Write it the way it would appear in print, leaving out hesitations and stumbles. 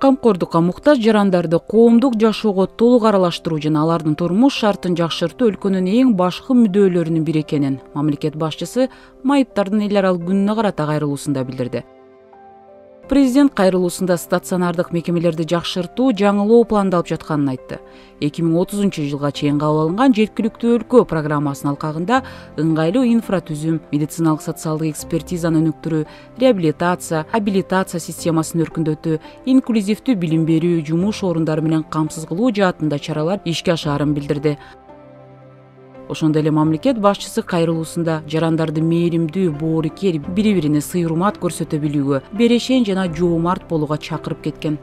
камкордукка муктаж жарандарды коомдук жашоого толук аралаштыруу жана алардын турмуш шартын жакшыртуу өлкөнүн эң башкы мүддөөлөрүнүн бири экенин мамлекет башчысы майыптардын эл аралык күнүнө карата кайрылуусунда билдирди. Президент кайрылуусунда стационардык мекемелерди жакшыртуу жаңылоо пландалып жатканын айтты. 2030-жылга чейин кабыл алынган жеткиликтүү өлкө программасынын алкагында ыңгайлуу инфратүзүм, медициналык социалдык экспертизаны өнүктүрүү, реабилитация, абилитация системасын өркүндөтүү, инклюзивдүү билим берүү, жумуш орундары менен камсыз кылуу жаатында чаралар ишке ашаарын билдирди. Ошондой эле мамлекет башчысы кайрылуусунда жарандарды мээримдүү, боорукер, бири-бирине сый-урмат көрсөтө билүүгө, берешен жана жоомарт болууга чакырып кеткен.